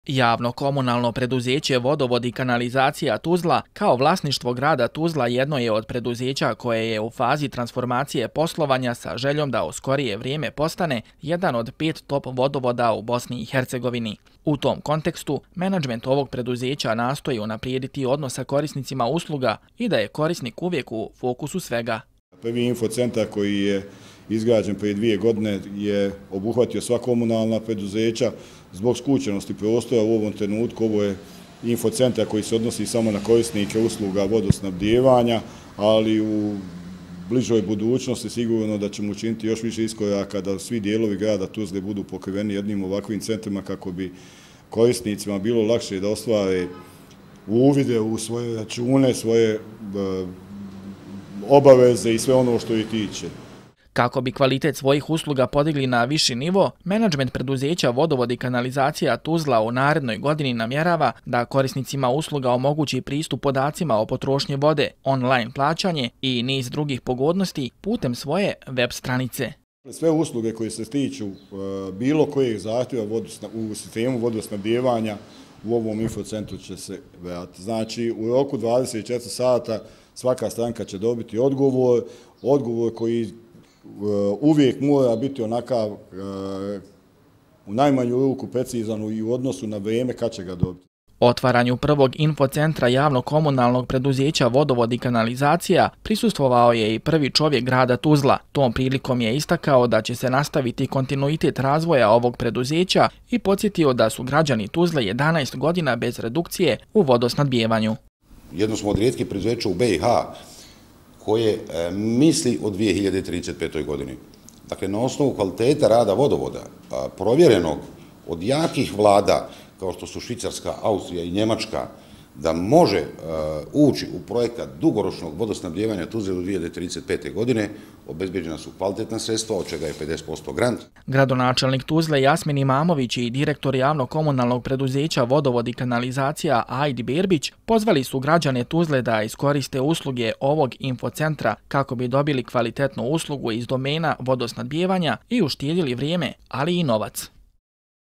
Javno komunalno preduzeće Vodovod i kanalizacija Tuzla kao vlasništvo grada Tuzla jedno je od preduzeća koje je u fazi transformacije poslovanja sa željom da u skorije vrijeme postane jedan od 5 top vodovoda u Bosni i Hercegovini. U tom kontekstu, menadžment ovog preduzeća nastoji unaprijediti odnos sa korisnicima usluga i da je korisnik uvijek u fokusu svega. Prvi infocentar koji je izgrađen prije 2 godine je obuhvatio sva komunalna preduzeća. Zbog skučenosti prostora u ovom trenutku ovo je infocentar koji se odnosi samo na korisnike usluga vodosnabdijevanja, ali u bližoj budućnosti sigurno da ćemo učiniti još više iskoraka da svi dijelovi grada Tuzle budu pokriveni jednim ovakvim centrima kako bi korisnicima bilo lakše da ostvare uvide u svoje račune, svoje obaveze i sve ono što ih tiče. Kako bi kvalitet svojih usluga podigli na viši nivo, menadžment preduzeća Vodovod i kanalizacija Tuzla u narednoj godini namjerava da korisnicima usluga omogući pristup podacima o potrošnji vode, online plaćanje i niz drugih pogodnosti putem svoje web stranice. Sve usluge koje se tiču bilo kojeg zahtjeva u sistemu vodosnabdijevanja u ovom infocentru će se vratiti. Znači, u roku 24 sata svaka stranka će dobiti odgovor koji uvijek mora biti onakav u najmanju ruku precizan i u odnosu na vrijeme kad će ga dobiti. Otvaranju prvog infocentra javno-komunalnog preduzeća Vodovod i kanalizacija prisustvovao je i prvi čovjek grada Tuzla. Tom prilikom je istakao da će se nastaviti kontinuitet razvoja ovog preduzeća i podsjetio da su građani Tuzle 11 godina bez redukcije u vodosnabdijevanju. Jedno smo od rijetkih preduzeća u BiH koje misli o 2035. godini. Dakle, na osnovu kvaliteta rada vodovoda, provjerenog od jakih vlada, kao što su Švicarska, Austrija i Njemačka, da može ući u projekat dugoročnog vodosnabdijevanja Tuzle do 2035. godine, obezbeđena su kvalitetna sredstva, od čega je 50% grant. Gradonačelnik Tuzle Jasmin Imamović i direktor javno-komunalnog preduzeća Vodovod i kanalizacija Ajdi Berbić pozvali su građane Tuzle da iskoriste usluge ovog infocentra kako bi dobili kvalitetnu uslugu iz domena vodosnabdijevanja i uštedjeli vrijeme, ali i novac.